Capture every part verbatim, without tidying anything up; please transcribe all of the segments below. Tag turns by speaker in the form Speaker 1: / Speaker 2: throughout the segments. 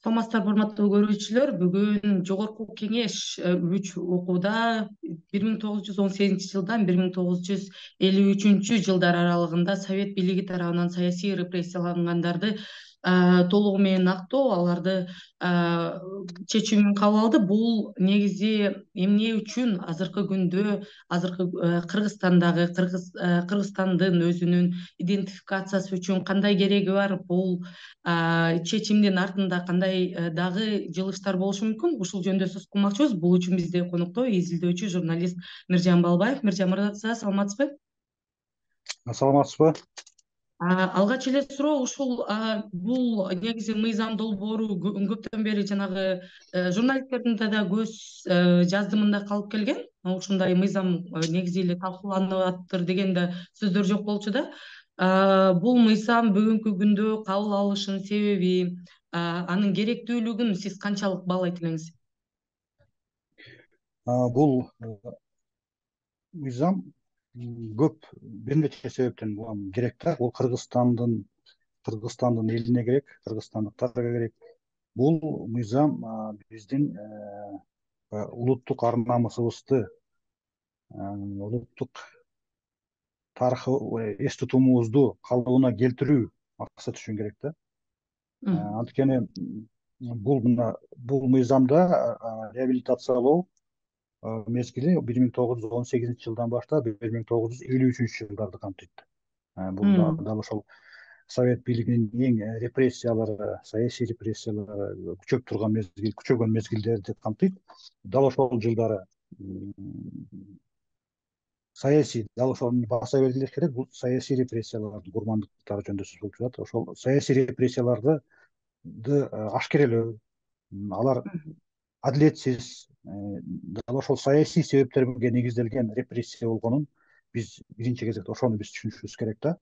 Speaker 1: Саламатсыздарбы, урматтуу көрүүчүлөр. Бүгүн Жогорку Кеңеш үч окууда бир миң тогуз жүз он сегизинчи жылдан бир миң тогуз жүз элүү үчүнчү жылдар аралыгында Совет бийлиги тарабынан саясий репрессиялангандарды толугу менен актоо, аларды чечүүнүн кабыл алды. Бул негизи эмне үчүн азыркы күндө азыркы Кыргызстандагы Кыргызстандын өзүнүн идентификациясы үчүн кандай кереги бар? Бул чечимдин артында кандай дагы жылыштар болушу мүмкүн? Ушул жөнүндө сөз кылмакчыбыз. Бул үчүн бизде конокто изилдөөчү журналист Миржан Балбаев. Миржан мырза, саламатсызбы?
Speaker 2: Саламатсызбы?
Speaker 1: Алгач эле суроо ушул бул негизи мыйзам долбоору көптөн бери жанагы журналисттердин да көз жаздымында калып келген. Ушундай мыйзам негизи эле талкууланып атыптыр деген да сөздөр жок болчу да. Бул мыйзам бүгүнкү күндө кабыл алышынын себеби, анын керектүүлүгүн сиз канчалык баалайт элеңиз?
Speaker 2: Бул мыйзам көп бир нече себептен керек да. Бул Кыргызстандын Кыргызстандын элине керек, кыргызстандыктарга керек. Бул мыйзам биздин улуттук ар намысыбызды, улуттук тарыхы эс тутумубузду калыбына келтирүү максаты үчүн керек да. Анткени бул мына бул мыйзамда реабилитациялоо мезгили бир миң тогуз жүз он сегизинчи жылдан баштап бир миң тогуз жүз элүү үчүнчү жылдарды камтыйт. Бул дал ошол Совет бийлигинин эң репрессиялары, саясий репрессиялары күчөп турган мезгил, күчөгөн мезгилдерди камтыйт. Дал ошол жылдары саясий, дал ошону баса белгилеш керек, бул саясий репрессиялардын курмандыктары жөнүндө сөз болуп жатат. Ошол саясий репрессияларды ашкерелөө, алар адилетсиз, дал ошол саясий себептерге негизделген репрессия болгонун биз биринчи кезекте ошону биз түшүнүшүбүз керек да.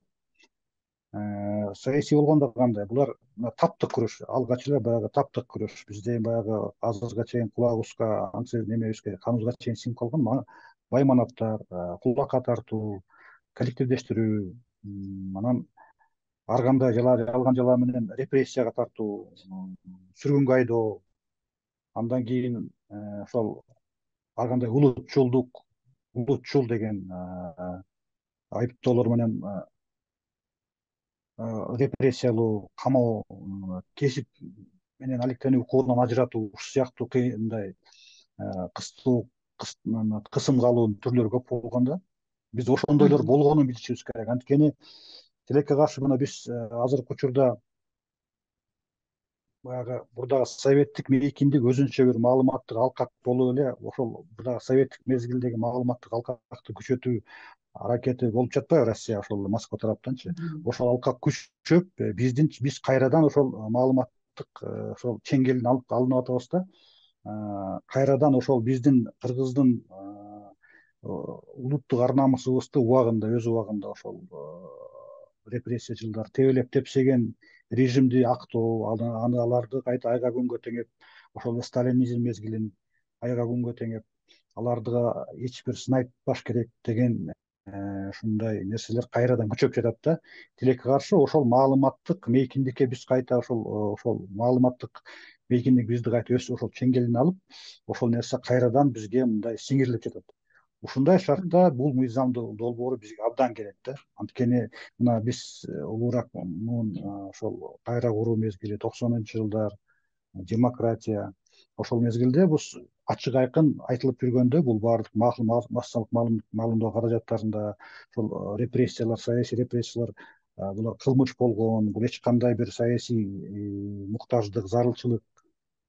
Speaker 2: Саясий болгондо кандай? Булар таптык күрөш, алгач эле баягы таптык күрөш. Бизде баягы азыркыга чейин кулагыбызга, аңсы немебизге, каныбызга чейин сиңип калган байманаттар, кулакка тартуу, коллективдештирүү, анан ар кандай жалган жала менен репрессияга тартуу, сүргүнгө айдоо, андан кийин ошол ар кандай улутчулдук, улутчул деген айыптоолор менен репрессиялоо, камоо, кесип менен алектенүү, укугунан ажыратуу, ушул сыяктуу кыйындай кыстоо, кысымга алуу түрлөрү көп болгон да. Биз ошондойлор болгонун билишибиз керек. Анткени тилекке каршы мына биз азыркы учурда баягы бурдагы советтик мейкиндик өзүнчө бир маалыматтык алкак болуп эле ошол бурдагы советтик мезгилдеги маалыматтык алкакты күчөтүү аракети болуп жатпайбы Россия, ошол Москва тараптанчы? Ошол алкак күчөп, биздин биз кайрадан ошол маалыматтык ошол чеңгелин алып алынып атабыз да. Кайрадан ошол биздин кыргыздын улуттук ар намысыбызды убагында, өз убагында ошол репрессия жылдары тебелеп тепсеген режимди актоо, аны аларды кайта айга күнгө теңеп, ошол сталинизм мезгилин айга күнгө теңеп, аларды эч бир сын айтпаш керек деген ушундай нерселер кайрадан күчөп жатат да. Тилекке каршы ошол маалыматтык мейкиндикке биз кайта ошол ошол маалыматтык мейкиндик бизди кайта өз ошол чеңгелине алып, ошол нерсе кайрадан бизге мындай сиңирилип жатат. Ушундай шартта бул мыйзам долбоору бизге абдан керек да. Анткени мына биз улуураак муун ошол кайра куруу мезгили, токсонунчу жылдар, демократия, ошол мезгилде бул ачык айкын айтылып жүргөндө, бул баардык массалык маалымдоо каражаттарында ошол репрессиялар, саясий репрессиялар булар кылмыш болгон, бул эч кандай бир саясий муктаждык, зарылчылык,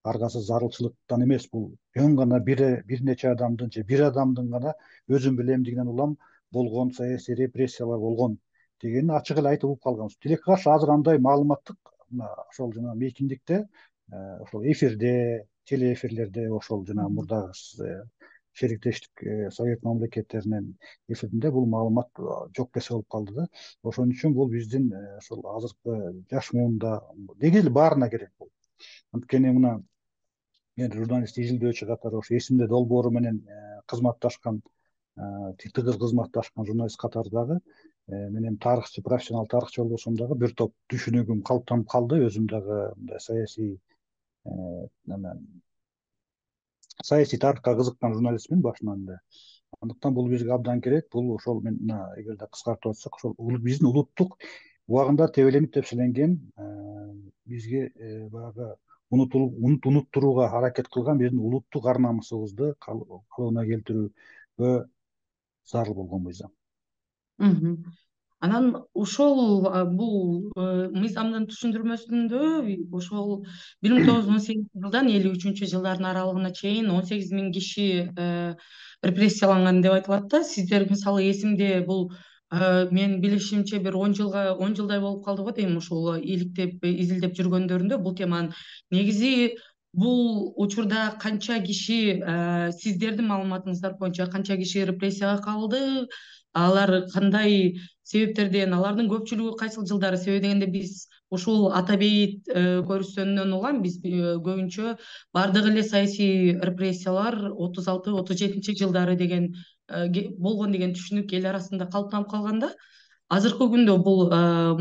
Speaker 2: аргасыз зарылчылыктан эмес, бул жөн гана бир бир нече адамдын же бир адамдын гана өзүн билемдигинен улам болгон саясий репрессиялар болгон дегенин ачык эле айтып угуп калганбыз. Тилекке каршы азыр андай маалыматтык ошол жана мейкиндикте, ошол эфирде, телеэфирлерде, ошол жана мурдагы шериктештик совет мамлекеттеринин эфиринде бул маалымат жок десе болуп калды да. Ошон үчүн бул биздин ошол азыркы жаш муунда негизи эле баарына керек бул. Анткени мына мен журналист, изилдөөчү катары ошо эсимде долбоору менен кызматташкан, тыгыз кызматташкан журналист катары дагы мен эми тарыхчы, профессионал тарыхчы болбосом дагы бир топ түшүнүгүм калыптанып калды. Өзүм дагы мындай саясий саясий тарыхка кызыккан журналистмин башынан эле. Андыктан бул бизге абдан керек. Бул ошол мен мына эгерде кыскартып атсак, ошол биздин улуттук убагында тебеленип тепселенген, бизге баягы унутулуп унуттурууга аракет кылган биздин улуттук ар намысыбызды калыбына келтирүүгө зарыл болгон мыйзам.
Speaker 1: Анан ошол бул мыйзамдын түшүндүрмөсүндө ошол бир миң тогуз жүз он сегизинчи жылдан элүү үчүнчү жылдардын аралыгына чейин он сегиз миң киши репрессияланган деп айтылат да. Сиздер мисалы эсимде бул мен билишимче бир он жылга он жылдай болуп калды го дейм ушул иликтеп изилдеп жүргөндөрүндө бул теманын. Негизи бул учурда канча киши сиздердин маалыматыңыздар боюнча канча киши репрессияга калды? Алар кандай себептерден, алардын көпчүлүгү кайсыл жылдары? Себеби дегенде биз ушул ата бейит көрүнүшүнөн улам биз көбүнчө бардыгы эле саясий репрессиялар отуз алты отуз жетинчи жылдары деген болгон деген түшүнүк эл арасында калыптанып калганда, азыркы күндө бул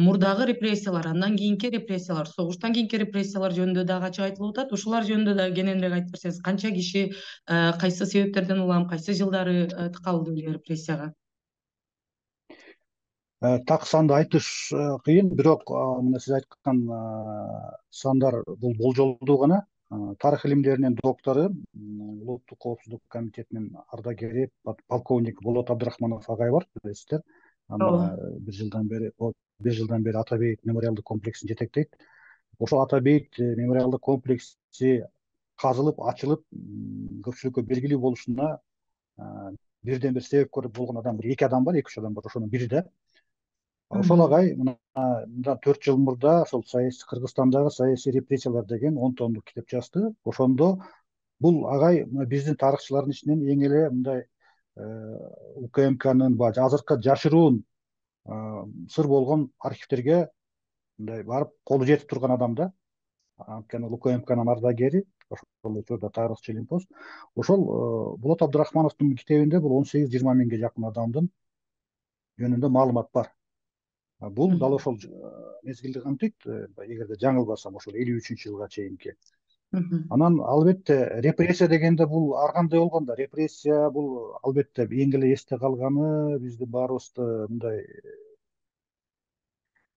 Speaker 1: мурдагы репрессиялар, андан кийинки репрессиялар, согуштан кийинки репрессиялар жөнүндө дагы ачык айтылып атат. Ушулар жөнүндө да кененирээк айтып берсеңиз, канча киши кайсы себептерден улам кайсы жылдары калды репрессияга?
Speaker 2: Так санды айтыш кыйын, бирок мына сиз айткан сандар бул болжолдуу гана. Тарых илимдеринин доктору, Улуттук коопсуздук комитетинин ардагери полковник Болот Абдрахманов агай бар, билесиздер. Анда бир жылдан бери бир жылдан бери Ата бейит мемориалдык комплексин жетектейт. Ошол Ата бейит мемориалдык комплекси казылып, ачылып, көпчүлүккө белгилүү болушуна бирден бир себепкөр болгон адам бир эки адам бар, эки үч адам бар. Ошонун бири да. Ошол агай мындан төрт жыл мурда ошол Кыргызстандагы саясий репрессиялар деген он томдук китеп жазды. Ошондо бул агай биздин тарыхчылардын ичинен эң эле мындай УКМКнын баягы азыркы жашыруун сыр болгон архивдерге мындай барып колу жетип турган адам да. Анткени УКМКнын ардагери, ошол учурда тарыхчы илимпоз. Ошол Болот Абдрахмановдун китебинде бул он сегиз жыйырма миңге жакын адамдын жөнүндө маалымат бар. Бул дал ошол мезгилди камтыйт, эгерде жаңылбасам, ошол элүү үчүнчү жылга чейинки. Анан албетте репрессия дегенде бул ар кандай болгон да. Репрессия бул албетте эң эле эсте калганы биздин баарыбызды мындай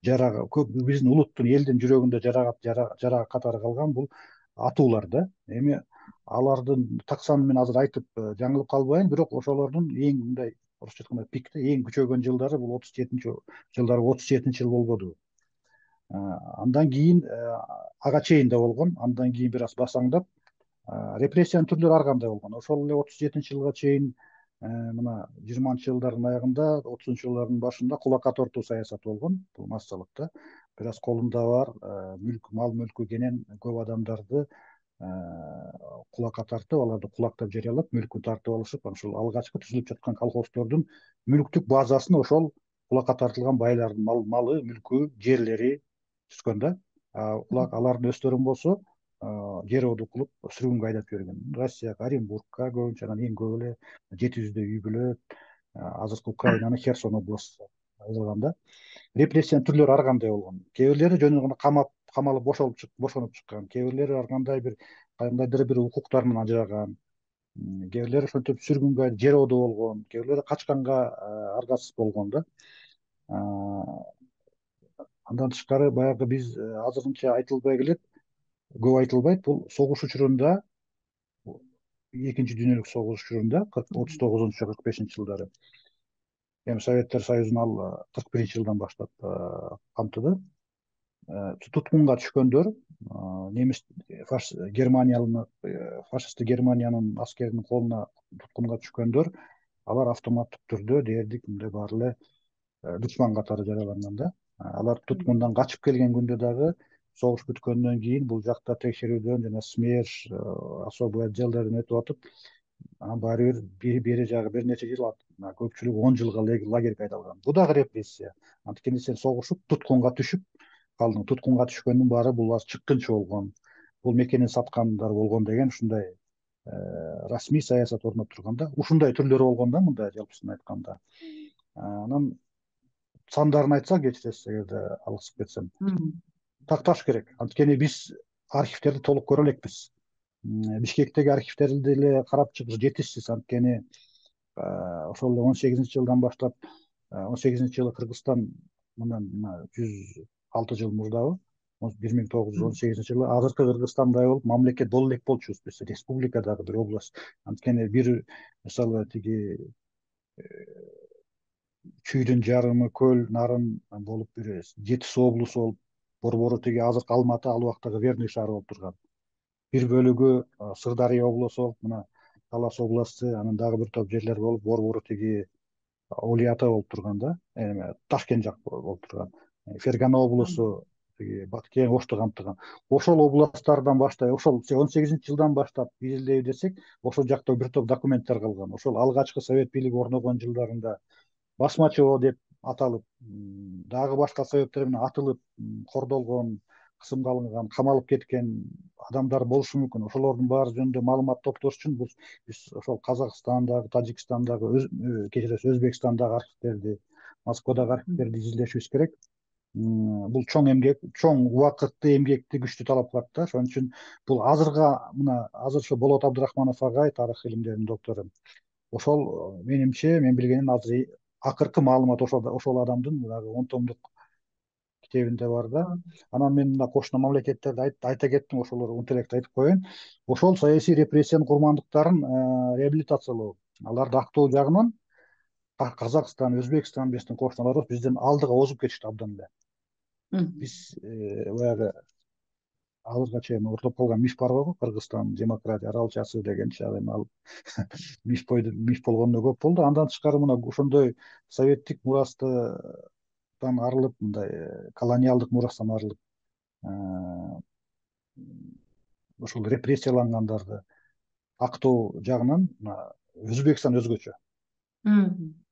Speaker 2: жарага көп, биздин улуттун элдин жүрөгүндө жарага катары калган бул атуулар да. Эми алардын так санын мен азыр айтып жаңылып калбайын, бирок ошолордун эң мындай орусча айтканда пикте эң күчөгөн жылдары бул отуз жетинчи жылдары отуз жетинчи жыл болбоду. Андан кийин ага чейин да болгон, андан кийин бир аз басаңдап, репрессиянын түрлөрү ар кандай болгон. Ошол эле отуз жетинчи жылга чейин мына жыйырманчы жылдардын аягында, отузунчу жылдардын башында кулакка тартуу саясаты болгон. Бул массалык да. Бир аз колунда бар мүлк, мал мүлкү кенен көп адамдарды кулакка тартып, аларды кулактап жарыялап, мүлкүн тартып алышып, ошол алгачкы түзүлүп жаткан колхоздордун мүлктүк базасын ошол кулакка тартылган байлардын малы, мүлкү, жерлери түзгөн да. Алардын өздөрүн болсо жер оду кылып сүргүнгө айдап жиберген. Россияга, Оренбургка көбүнчө, анан эң көп эле жети жүздөй үй бүлөт, азыркы Украинанын Херсон областу алган да. Репрессиянын түрлөрү ар кандай болгон. Кээ бирлери жөн гана камап, камалып бошолуп чык, бошонуп чыккан. Кээ бирлери ар кандай бир кандайдыр бир укуктарынан ажыраган. Кээ бирлери ошентип сүргүнгө жер оду болгон. Кээ бирлери качканга аргасыз болгон да. Андан тышкары баягы биз азырынча айтылбай келет, көп айтылбайт. Бул согуш учурунда, экинчи дүйнөлүк согуш учурунда отуз тогузунчу кырк бешинчи жылдары, эми Советтер Союзун ал кырк биринчи жылдан баштап камтыды. Туткунга түшкөндөр, немис Германиянын фашисттик Германиянын аскеринин колуна туткунга түшкөндөр, алар автоматтык түрдө дээрлик мындай баары эле душман катары жараланган да. Алар туткундан качып келген күндө дагы согуш бүткөндөн кийин бул жакта текшерүүдөн жана СМЕРШ, особый отделдерден өтүп атып, анан баары бир бери жагы бир нече жыл, көпчүлүгү он жылга лагерге айдалган. Бул дагы репрессия. Анткени сен согушуп, туткунга түшүп калдың. Туткунга түшкөндүн баары бул чыккынчы болгон, бул мекенин саткандар болгон деген ушундай расмий саясат орноп турганда, ушундай түрлөрү болгон да, мындай жалпысын айтканда. Анан сандарын айтсак, кечиресиз эгерде алгысып кетсем, такташ керек. Анткени биз архивтерди толук көрө элекпиз. Бишкектеги архивтерди деле карап чыгыш жетишсиз, анткени ошол он сегизинчи жылдан баштап, он сегизинчи жылы Кыргызстан мындан жүз алты жыл мурдабы, бир миң тогуз жүз он сегизинчи жылы азыркы Кыргызстандай болуп мамлекет боло элек болчубуз биз, республикадагы бир область. Анткени бир мисалы тиги Чүйдүн жарымы, көл, нарын болуп бир жети суу облусу болуп, борбору тиги азыркы Алматы, ал убактагы Верный шаары болуп турган. Бир бөлүгү Сырдария облусу болуп, мына Талас областы, анан дагы бир топ жерлер болуп, борбору тиги Улуу Ата болуп турган да, эме Ташкент жак болуп турган. Фергана облусу тиги Баткен, Ошту камтыган. Ошол областтардан баштап, ошол он сегизинчи жылдан баштап изилдейбиз десек, ошол жакта бир топ документтер калган. Ошол алгачкы совет бийлиги орногон жылдарында басмачыбоо деп аталып, дагы башка себептер менен атылып, кордолгон, кысымга алынган, камалып кеткен адамдар болушу мүмкүн. Ошолордун баары жөнүндө маалымат топтош үчүн биз ошол Казакстандагы, Тажикстандагы, кечиресиз, Өзбекстандагы архивтерди, Москвадагы архивтерди изилдешибиз керек. Бул чоң эмгек, чоң убакытты, эмгекти күчтүү талап кылат да. Ошон үчүн бул азырга, мына азыр ошо Болот Абдрахманов агай, тарых илимдеринин доктору, ошол менимче, мен билгеним азыр акыркы маалымат ошол ошол адамдын дагы он томдук китебинде бар да. Анан мен мына кошуна мамлекеттерди айта кеттим, ошолор унтелекте айтып коеюн. Ошол саясий репрессиянын курмандыктарын реабилитациялоо, аларды актоо жагынан Казакстан, Өзбекстан биздин кошуналарыбыз бизден алдыга озуп кетишти абдан эле. Биз баягы азыркыга чейин ортоп калган миф бар го, Кыргызстан демократия аралчасы дегенчи, ал эми ал миф миф болгондо көп болду. Андан тышкары мына ошондой советтик мурастан арылып, мындай колониалдык мурастан арылып, ошол репрессиялангандарды актоо жагынан Өзбекстан өзгөчө.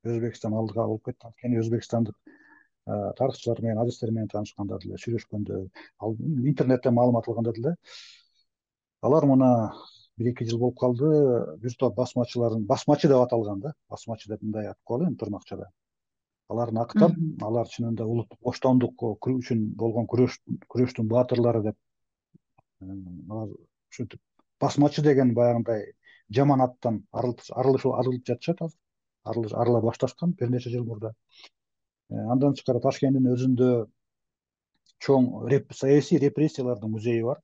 Speaker 2: Өзбекстан алдыга болуп кетти. Анткени өзбекстандык тарыхчылар менен, адистер менен таанышканда деле, сүйлөшкөндө, ал интернеттен маалымат алганда деле, алар мына бир эки жыл болуп калды, бир топ басмачыларын, басмачы деп аталган да, басмачы деп мындай атып коелу эми тырнакчада. Аларды актап, алар чынында улуттук боштондук үчүн болгон күрөш, күрөштүн баатырлары деп, алар ушинтип басмачы деген баягындай жаман аттан арылып арылып жатышат азыр. Арыла башташкан бир нече жыл мурда. Андан тышкары Ташкенттин өзүндө чоң саясий репрессиялардын музейи бар.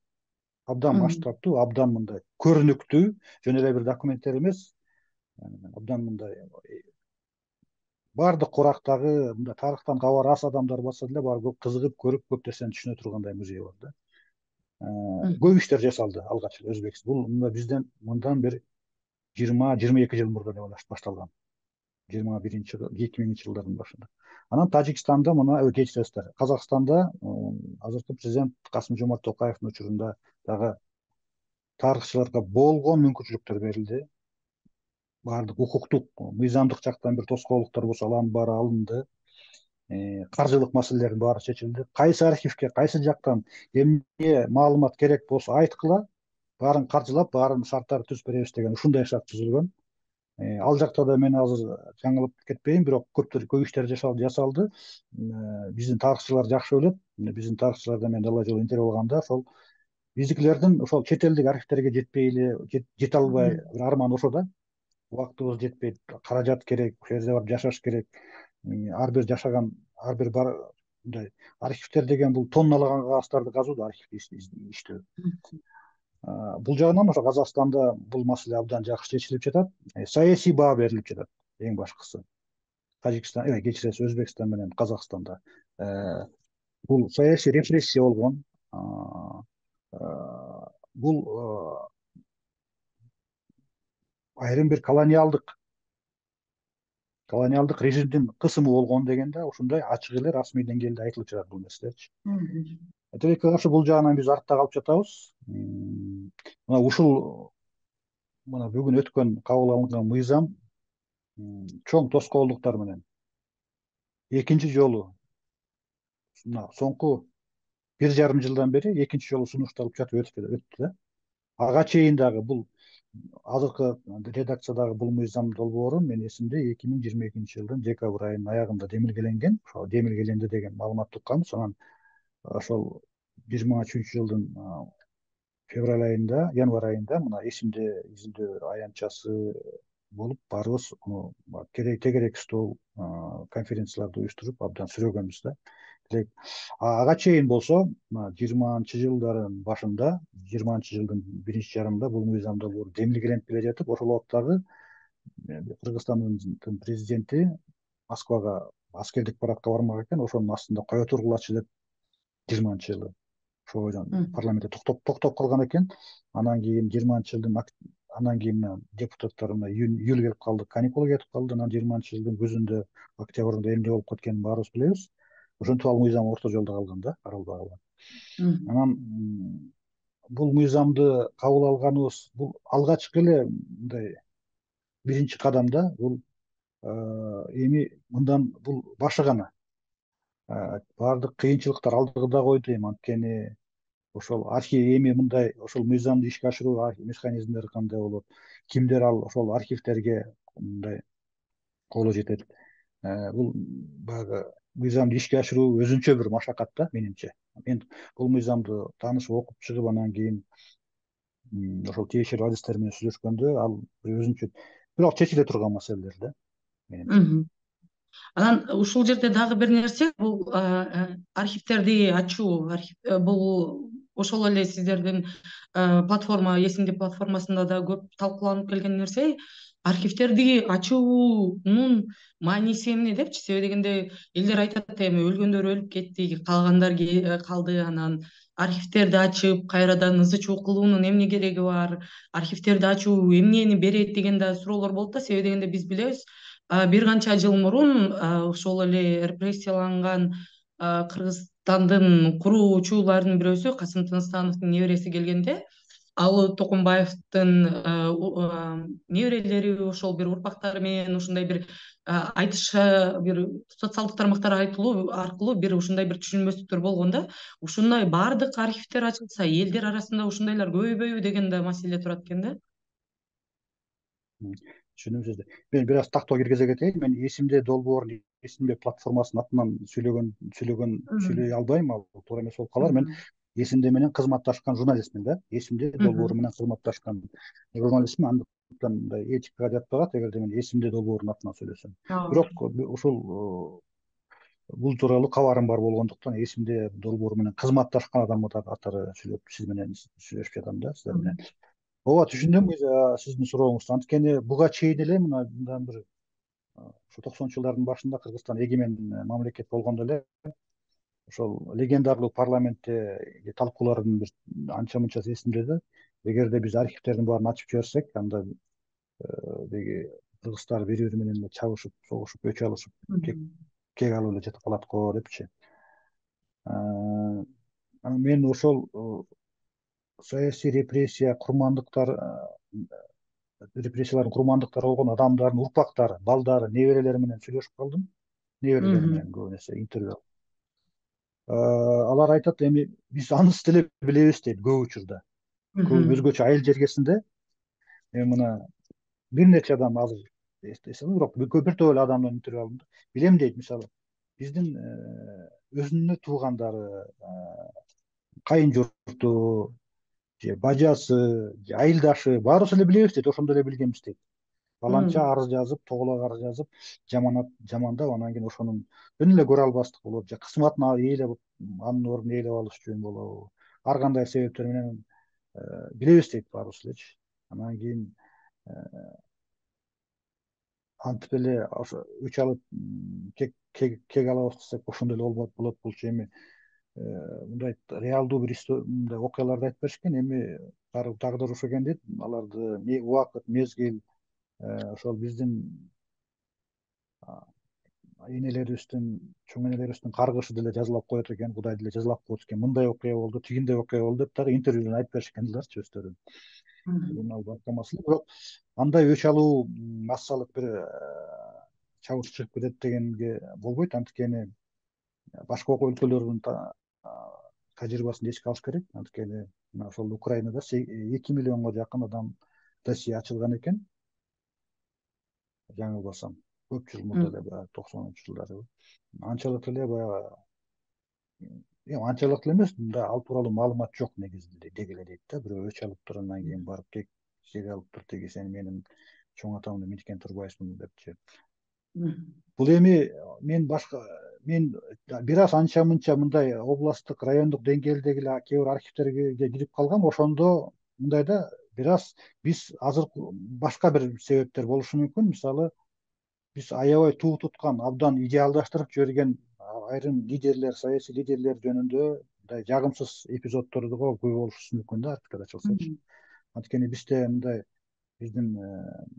Speaker 2: Абдан масштабтуу, абдан мындай көрүнүктүү, жөн эле бир документтер эмес, абдан мындай баардык курактагы, мындай тарыхтан кабары аз адамдар барса деле баары кызыгып көрүп, көп нерсени түшүнө тургандай музей бар да. Көп иштер жасалды алгач эле Өзбекстан. Бул мында бизден мындан бир жыйырма жыйырма эки жыл мурда деп башталган. жыйырма биринчи эки миңинчи жылдардын башында. Анан Тажикстанда мына кечиресиздер, Казакстанда азыркы президент Касым-Жомарт Токаевдин учурунда дагы тарыхчыларга болгон мүмкүнчүлүктөр берилди. Баардык укуктук, мыйзамдык жактан бир тоскоолдуктар болсо алардын баары алынды. Каржылык маселелердин баары чечилди. Кайсы архивге, кайсы жактан эмне маалымат керек болсо айткыла, баарын каржылап, баарын шарттарды түзүп беребиз деген ушундай шарт түзүлгөн. Ал жакта да мен азыр жаңылып кетпейин, бирок көптөр көп иштер жасалды. Биздин тарыхчылар жакшы билет. Биздин тарыхчылардан мен далай жолу интервью алганда, ошол биздикилердин ошол чет элдик архивтерге жетпей эле, жете албай бир арман ошо да. Убактыбыз жетпейт, каражат керек, ошол жерде барып жашаш керек. Ар бир жашаган, ар бир бар мындай архивтер деген бул тонналаган кагазтарды казуу да, архивди иштөө. Бул жагынан ошо Казакстанда бул маселе абдан жакшы чечилип жатат. Саясий баа берилип жатат эң башкысы. Тажикстан, э, кечиресиз, Өзбекстан менен Казакстанда бул саясий репрессия болгон. Бул айрым бир колониалдык колониалдык режимдин кысымы болгон дегенде ушундай ачык эле расмий деңгээлде айтылып жатат бул нерселерчи. Тилекке каршы бул жагынан биз артта калып жатабыз. Мына ушул мына бүгүн өткөн кабыл алынган мыйзам чоң тоскоолдуктар менен экинчи жолу, мына соңку бир жарым жылдан бери экинчи жолу сунушталып жатып өттү да. Ага чейин дагы бул азыркы редакциядагы бул мыйзам долбоору мен эсимде эки миң жыйырма экинчи жылдын декабрь айынын аягында демилгеленген. Ошо демилгеленди деген маалымат укканбыз. Анан ошол жыйырма үчүнчү жылдын февраль айында, январь айында мына эсимде изилдөө аянтчасы болуп баарыбыз керек тегерек стол конференцияларды уюштуруп абдан сүрөгөнбүз да. Ага чейин болсо мына жыйырманчы жылдардын башында, жыйырманчы жылдын биринчи жарымында бул мыйзам долбоору демилгеленип келе жатып, ошол убактагы Кыргызстандын президенти Москвага аскердик парадка бармак экен, ошонун астында кое тургулачы деп жыйырманчы жылы ошол бойдон парламентте токтоп токтоп калган экен. Анан кийин жыйырманчы жылдын анан кийин депутаттар мына июль келип калды, каникул кетип калды. Анан жыйырманчы жылдын күзүндө, октябрында эмне болуп кеткенин баарыбыз билебиз. Ошентип ал мыйзам орто жолдо калган да, каралбай калган. Анан бул мыйзамды кабыл алганыбыз бул алгачкы эле мындай биринчи кадам да. Бул эми мындан бул башы гана. Баардык кыйынчылыктар алдыда койду эми, анткени ошол архив эми мындай ошол мыйзамды ишке ашыруу механизмдери кандай болот, кимдер ал ошол архивдерге мындай колу жетет. Бул баягы мыйзамды ишке ашыруу өзүнчө бир машакат да менимче. Мен бул мыйзамды таанышып окуп чыгып анан кийин ошол тиешелүү адистер менен сүйлөшкөндө ал өзүнчө бирок чечиле турган маселелер да менимче.
Speaker 1: Анан ушул жерде дагы бир нерсе, бул архивдерди ачуу, бул ошол эле сиздердин платформа, эсимде платформасында да көп талкууланып келген нерсе. Архивдерди ачуунун мааниси эмне депчи? Себеби дегенде элдер айтат, эми өлгөндөр өлүп кетти, калгандар калды, анан архивдерди ачып кайрадан ызы чуу кылуунун эмне кереги бар? Архивдерди ачуу эмнени берет деген да суроолор болот да. Себеби дегенде биз билебиз, бир канча жыл мурун ошол эле репрессияланган Кыргызстандын куруучуларынын бирөөсү Касым Тыныстановдун небереси келгенде, ал Токумбаевдин неберелери ошол бир урпактары менен ушундай бир айтыша, бир социалдык тармактар айтылуу аркылуу бир ушундай бир түшүнбөстүктөр болгон да. Ушундай баардык архивдер ачылса, элдер арасында ушундайлар көбөйбөйбү деген да маселе турат экен да.
Speaker 2: Түшүндүм сизди. Мен бир аз тактоо киргизе кетейин. Мен эсимде долбоорун, эсимде платформасынын атынан сүйлөгөн сүйлөгөн сүйлөй албайм, ал туура эмес болуп калар. Мен эсимде менен кызматташкан журналистмин да. Эсимде долбоору менен кызматташкан журналистмин. Андыктан мындай этикага жатпагат эгерде мен эсимде долбоорунун атынан сүйлөсөм. Бирок ушул бул тууралуу кабарым бар болгондуктан эсимде долбоору менен кызматташкан адам катары сүйлөп сиз менен сүйлөшүп жатам да, сиздер менен. Ооба, түшүндүм сиздин сурооңузду. Анткени буга чейин эле мындан бир ушу токсонунчу жылдардын башында Кыргызстан эгемен мамлекет болгондо эле ошол легендарлуу парламентте талкуулардын бир анча мынчасы эсимде да. Эгерде биз архивдердин баарын ачып жиберсек, анда деги кыргыздар бири бири менен чабышып, согушуп, өч алышып, кек алып эле жатып калат го депчи. Мен ошол саясий репрессия курмандыктар репрессиялардын курмандыктары болгон адамдардын урпактары, балдары, неберелери менен сүйлөшүп калдым. Неберелери менен көбү нерсе интервью. Алар айтат, эми биз анысы деле билебиз дейт көп учурда. Көп өзгөчө айыл жергесинде эми мына бир нече адам азыр эстесем, бирок бир топ эле адамдан интервью алдым. Билем дейт, мисалы, биздин өзүнүн туугандары, кайын журту, же бажасы, же айылдашы баарыбыз эле билебиз дейт, ошондо эле билгенбиз дейт. Баланча арыз жазып, тоголок арыз жазып, жаманат жамандап, анан кийин ошонун жөн эле көрө албастык болот, же кызматына ээлеп, анын ордун ээлеп алыш үчүн болобу, ар кандай себептер менен билебиз дейт баарыбыз элечи. Анан кийин антип эле ошо өч алып кек алабыз десек, ошондой эле болбойт болот. Булчу эми мындай реалдуу бир мындай окуяларды айтып беришкен. Эми тагдыр ошо экен дейт. Аларды убакыт, мезгил ошол биздин энелерибиздин, чоң энелерибиздин каргышы деле жазалап коет экен, Кудай деле жазалап коет экен. Мындай окуя болду, тигиндей окуя болду деп дагы интервьюдон айтып беришкендилерчи өздөрү. Ал башка маселе. Бирок андай өч алуу массалык бир чабыш чыгып кетет дегенге болбойт. Анткени башка өлкөлөрдүн тажрыйбасын эске алыш керек. Анткени мына ошол Украинада эки миллионго жакын адам досье ачылган экен. Жаңылбасам, көп жыл мурда эле, токсонунчу жылдары. Анчалык эле баягы эми анчалык эле эмес, мында ал тууралуу маалымат жок негизинде деги эле дейт да. Бирөө өч алып тур, андан кийин барып кек жеге алып тур, тиги сен менин чоң атамды миткен турбайсың депчи. Бул эми мен башка мен бир аз анча мынча мындай областтык, райондук деңгээлдеги эле кээ бир архивтерге кирип калгам. Ошондо мындайда бир аз биз азыр башка бир себептер болушу мүмкүн. Мисалы, биз аябай туу туткан, абдан идеалдаштырып жиберген айрым лидерлер, саясий лидерлер жөнүндө мындай жагымсыз эпизоддорго күбө болушубуз мүмкүн да, архивдер ачылсачы. Анткени бизде мындай биздин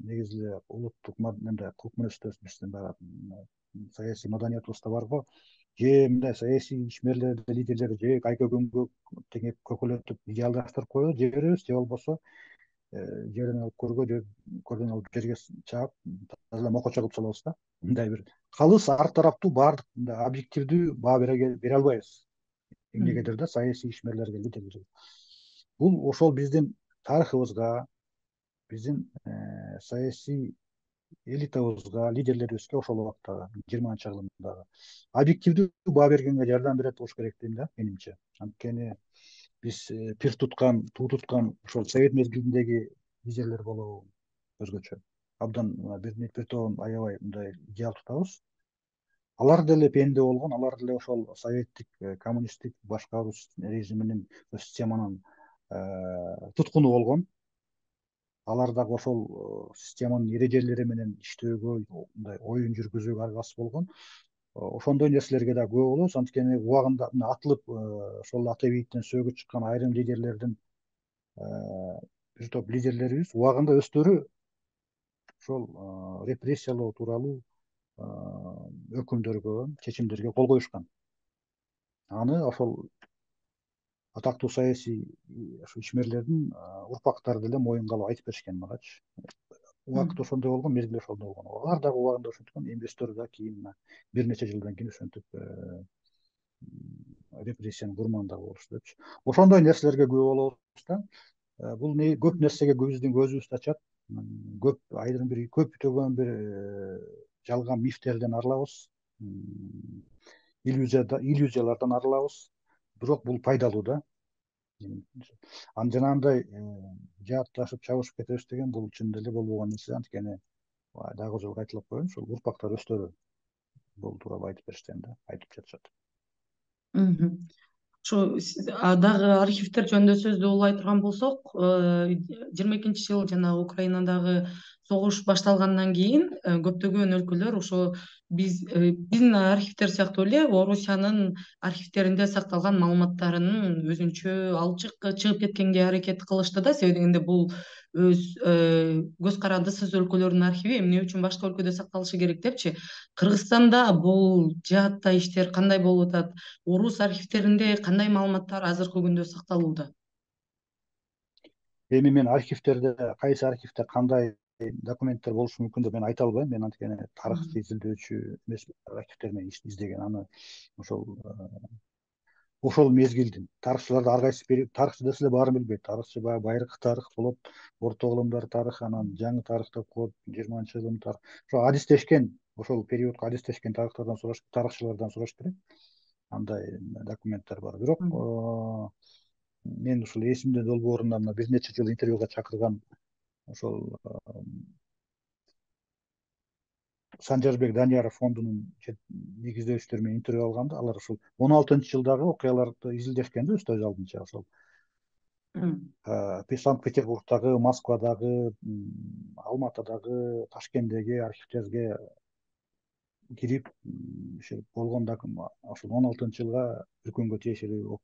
Speaker 2: негизи эле улуттук мындай кылык мүнөздөбүз, биздин баягы саясий маданиятыбызда бар го. Же мындай саясий ишмерлерди, лидерлерди же айкөгөнгө теңеп көкөлөтүп идеалдаштырып коебуз, же беребиз, же болбосо жерден алып көргө, же көрдөн алып жерге чаап таза эле мокочо кылып салабыз да. Мындай бир калыс, ар тараптуу, баардык мындай объективдүү баа бере албайбыз эмнегедир да, саясий ишмерлерге, лидерлерге. Бул ошол биздин тарыхыбызга, биздин саясий элитабызга, лидерлерибизге ошол убакта жыйырманчы кылымдагы объективдүү баа бергенге жардам берет болуш керек дейм да, менимче. Анткени биз пир туткан, туу туткан ошол совет мезгилиндеги лидерлер болобу өзгөчө абдан бир бир тобун аябай мындай идеал тутабыз. Алар деле пенде болгон, алар деле ошол советтик, коммунисттик башкаруу режиминин системанын туткуну болгон. Алар дагы ошол системанын эрежелери менен иштөөгө, мындай оюн жүргүзүүгө аргасыз болгон. Ошондой нерселерге да күбө болобуз. Анткени убагында атылып ошол ата бейиттен сөөгү чыккан айрым лидерлердин, бир топ лидерлерибиз убагында өздөрү ошол репрессиялоо тууралуу өкүмдөргө, чечимдерге кол коюшкан. Аны ошол атактуу саясий ишмерлердин урпактары деле моюнга алып айтып беришкен магачы. Убакыт ошондой болгон, мезгил ошондой болгон. Алар дагы убагында ошентип, эми өздөрү да кийин бир нече жылдан кийин ошентип репрессиянын курмандыгы болушту депчи. Ошондой нерселерге күбө болобуз да. Бул көп нерсеге биздин көзүбүздү ачат. Көп айрым бир көптөгөн бир жалган мифтерден арылабыз, иллюзиялардан арылабыз. Бирок бул пайдалуу да. Анан жанагындай жаатташып чабышып кетебиз деген бул чын эле болбогон нерсе. Анткени дагы жолу кайталап коеюн, ушул урпактар өздөрү бул тууралуу айтып беришкен да, айтып жатышат.
Speaker 1: Ушу дагы архивдер жөнүндө сөздү улай турган болсок, жыйырма экинчи жыл жанагы Украинадагы согуш башталгандан кийин көптөгөн өлкөлөр ошо биз биздин архивдер сыяктуу эле Орусиянын архивдеринде сакталган маалыматтарын өзүнчө алып чыгып кеткенге аракет кылышты да. Себеби дегенде бул өз көз карандысыз өлкөлөрдүн архиви эмне үчүн башка өлкөдө сакталышы керек депчи. Кыргызстанда бул жаатта иштер кандай болуп атат? Орус архивдеринде кандай маалыматтар азыркы күндө сакталууда?
Speaker 2: Эми мен архивдерде кайсы архивде кандай документтер болушу мүмкүн деп мен айта албайм. Мен анткени тарыхчы, изилдөөчү эмес, архивдер менен издеген. Аны ошол ошол мезгилдин тарыхчыларды ар кайсы период, тарыхчы десе эле баарын билбейт. Тарыхчы баягы байыркы тарых болот, орто кылымдар тарыхы, анан жаңы тарых деп коет, жыйырманчы кылым тарых. Ошо адистешкен, ошол периодко адистешкен тарыхтардан сураш, тарыхчылардан сураш керек. Андай документтер бар. Бирок мен ушул эсимде долбоорунда мына бир нече жыл интервьюга чакырган ошол Санжарбек Данияров фондунун негиздөөчүлөрү менен интервью алганда, алар ушул он алтынчы жылдагы окуяларды изилдешкен да, өз алдынча. Ошол Санкт-Петербургдагы, Москвадагы, Алматыдагы, Ташкенттеги архивдерге кирип болгон ошол он алтынчы жылга өлкөнгө тиешелүү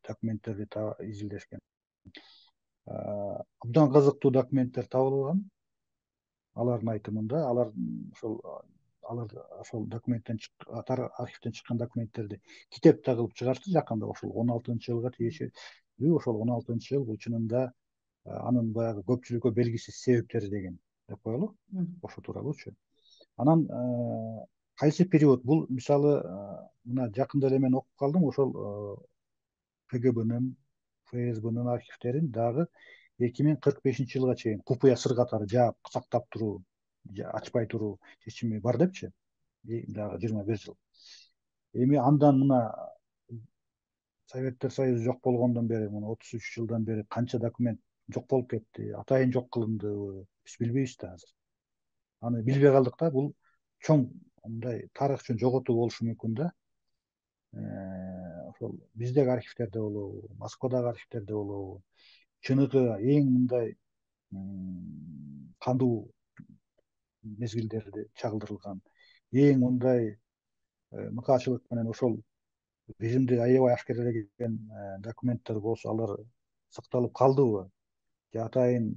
Speaker 2: документтерди изилдешкен. Абдан кызыктуу документтер табылган. Алардын айтымында, алар ошол алар ошол документтен архивден чыккан документтерди китепте кылып чыгарышты жакында. Ошол он алтынчы жылга тиешелүү, ошол он алтынчы жыл бул чынында анын баягы көпчүлүккө белгисиз себептери деген деп коелу, ошо тууралуучу. Анан кайсы период бул, мисалы, мына жакында эле мен окуп калдым, ошол КГБнын, ФСБнын архивдерин дагы эки миң кырк бешинчи жылга чейин купуя сыр катары жаап сактап туруу, ачпай туруу чечими бар депчи, дагы жыйырма бир жыл. Эми андан мына Советтер Союзу жок болгондон бери, мына отуз үч жылдан бери канча документ жок болуп кетти, атайын жок кылындыбы, биз билбейбиз да азыр. Аны билбей калдык да, бул чоң мындай тарых үчүн жоготуу болушу мүмкүн да. Ошол биздеги архивдерде болобу, Москвадагы архивдерде болобу, чыныгы эң мындай кандуу мезгилдерде чагылдырылган, эң мындай мыкаачылык менен ошол режимди аябай ашкерелеген документтер болсо, алар сакталып калдыбы, же атайын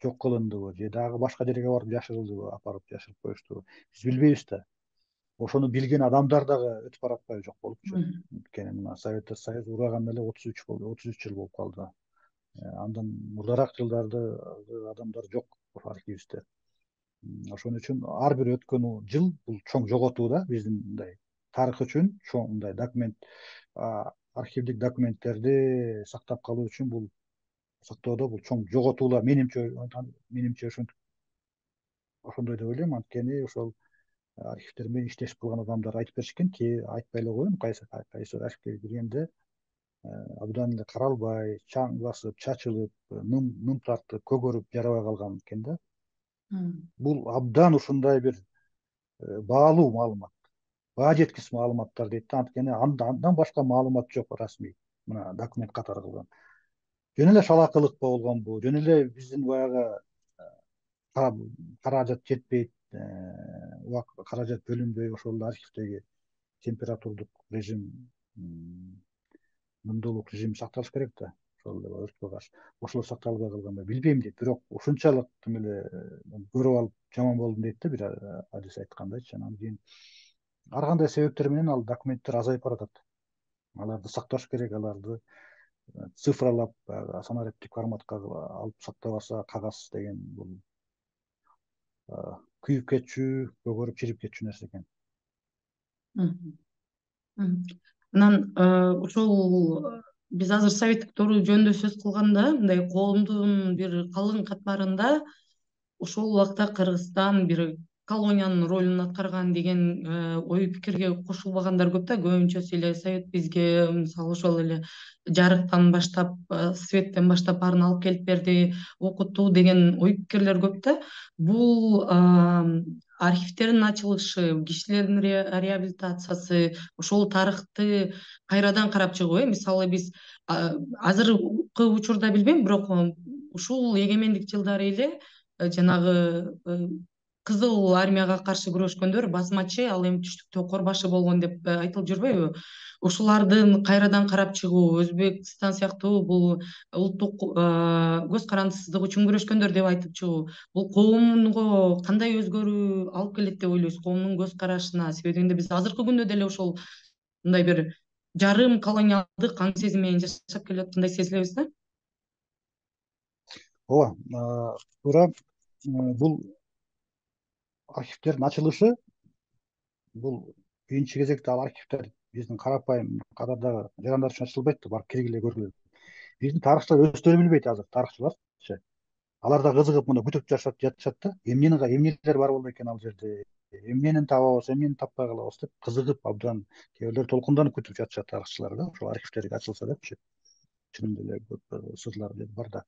Speaker 2: жок кылындыбы, же дагы башка жерге барып жашырылдыбы, апарып жашырып коюштубу, биз билбейбиз да. Ошону билген адамдар дагы өтүп баратпайбы, жок болупчу. Анткени мына Советтер Союзу ураганда эле отуз үч болду, отуз үч жыл болуп калды. Андан мурдараак жылдарды адамдар жок архивибизде. Ошон үчүн ар бир өткөн жыл бул чоң жоготуу да, биздин мындай тарых үчүн чоң мындай документ, архивдик документтерди сактап калуу үчүн бул сактоодо бул чоң жоготуулар, менимче менимче ошентип ошондой деп ойлойм. Анткени ошол архивдер менен иштешип калган адамдар айтып беришкен, ки айтпай эле коеюн, кайсы кайсы архивге киргенде абдан эле каралбай, чаң басып, чачылып, нум нум тартып, көгөрүп жарабай калган экен да. Бул абдан ушундай бир баалуу маалымат, баа жеткис маалыматтар дейт да. Анткени андан башка маалымат жок расмий, мына документ катары кылган. Жөн эле шалакылык болгонбу, жөн эле биздин баягы каражат жетпейт, каражат бөлүнбөй ошол архивдеги температурдук режим, мундулук режим сакталыш керек да. Ошол эле өрткө каршы ошолор сакталбай калганбы билбейм дейт. Бирок ушунчалык тим эле көрүп алып жаман болдум дейт да, бир адис айткандайчы. Анан кийин ар кандай себептер менен ал документтер азайып баратат. Аларды сакташ керек, аларды цифралап, санариптик форматка алып сактабаса, кагаз деген бул күйүп кетчү, көгөрүп чирип кетчү нерсе экен.
Speaker 1: Анан ошол биз азыр советтик доору жөнүндө сөз кылганда, мындай коомдун бир калың катмарында ошол убакта Кыргызстан бир колониянын ролун аткарган деген ой пикирге кошулбагандар көп да. Көбүнчөсү эле совет бизге мисалы ошол эле жарыктан баштап, светтен баштап баарын алып келип берди, окутту деген ой пикирлер көп да. Бул архивдердин ачылышы, кишилердин реабилитациясы, ошол тарыхты кайрадан карап чыгуу. Мисалы биз азыркы учурда билбейм, бирок ушул эгемендик жылдары эле жанагы Кызыл армияга каршы күрөшкөндөр басмачы, ал эми түштүктө корбашы болгон деп айтылып жүрбөйбү? Ушулардын кайрадан карап чыгуу, Өзбекстан сыяктуу бул улуттук көз карандысыздык үчүн күрөшкөндөр деп айтып чыгуу, бул коомго кандай өзгөрүү алып келет деп ойлойсуз, коомдун көз карашына? Себеби дегенде биз азыркы күндө деле ошол мындай бир жарым колониалдык аң сезим менен жашап келип аткандай сезилебиз да.
Speaker 2: Ооба, туура. Бул архивдердин ачылышы, бул биринчи кезекте ал архивдер биздин карапайым катардагы жарандар үчүн ачылбайт да, барып киргиле көргүлө. Биздин тарыхчылар өздөрү билбейт азыр, тарыхчыларчы. Алар да кызыгып мына күтүп жашап жатышат да. Эмнени эмнелер бар болду экен ал жерде, эмнени табабыз, эмнени таппай калабыз деп кызыгып, абдан кээ бирлер толкунданып күтүп жатышат тарыхчылар да, ошол архивдер ачылса депчи. Чынында эле көп сырлар бар да.